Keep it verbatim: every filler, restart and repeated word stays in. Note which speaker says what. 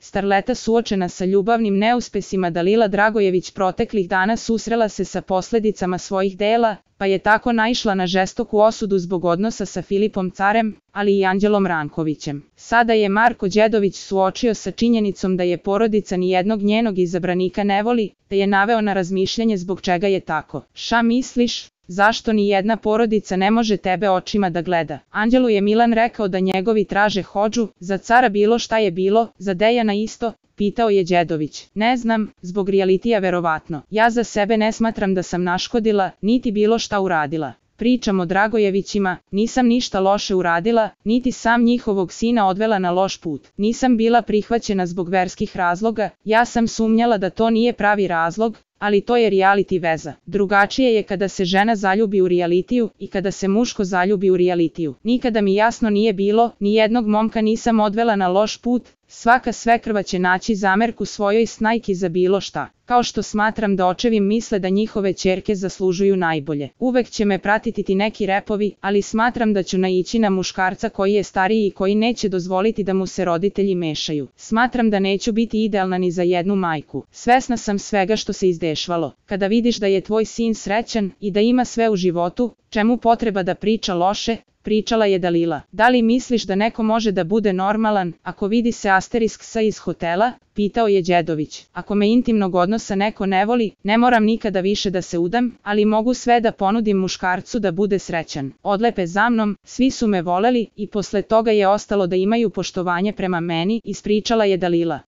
Speaker 1: Starleta suočena sa ljubavnim neuspesima Dalila Dragojević proteklih dana susrela se sa posledicama svojih dela, pa je tako naišla na žestoku osudu zbog odnosa sa Filipom Carem, ali i Anđelom Rankovićem. Sada je Marko Đedović suočio sa činjenicom da je porodica nijednog njenog izabranika ne voli, te je naveo na razmišljanje zbog čega je tako. Ša misliš? Zašto ni jedna porodica ne može tebe očima da gleda? Anđelu je Milan rekao da njegovi traže hodžu, za Cara bilo šta je bilo, za Dejana isto, pitao je Đedović. Ne znam, zbog realitija verovatno. Ja za sebe ne smatram da sam naškodila, niti bilo šta uradila. Pričam o Dragojevićima, nisam ništa loše uradila, niti sam njihovog sina odvela na loš put. Nisam bila prihvaćena zbog verskih razloga, ja sam sumnjala da to nije pravi razlog, ali to je reality veza. Drugačije je kada se žena zaljubi u realitiju i kada se muško zaljubi u realitiju. Nikada mi jasno nije bilo, ni jednog momka nisam odvela na loš put, svaka svekrva će naći zamerku svojoj snajki za bilo šta. Kao što smatram da očevi misle da njihove ćerke zaslužuju najbolje. Uvek će me pratiti ti neki repovi, ali smatram da ću naići na muškarca koji je stariji i koji neće dozvoliti da mu se roditelji mešaju. Smatram da neću biti idealna ni za jednu majku. Svesna sam svega što se izdešvalo. Kada vidiš da je tvoj sin srećan i da ima sve u životu, čemu potreba da priča loše? Pričala je Dalila. Da li misliš da neko može da bude normalan, ako vidi se asterisk sa iz hotela? Pitao je Đedović. Ako me intimnog odnosa neko ne voli, ne moram nikada više da se udam, ali mogu sve da ponudim muškarcu da bude srećan. Odlepe za mnom, svi su me voleli i posle toga je ostalo da imaju poštovanje prema meni, ispričala je Dalila.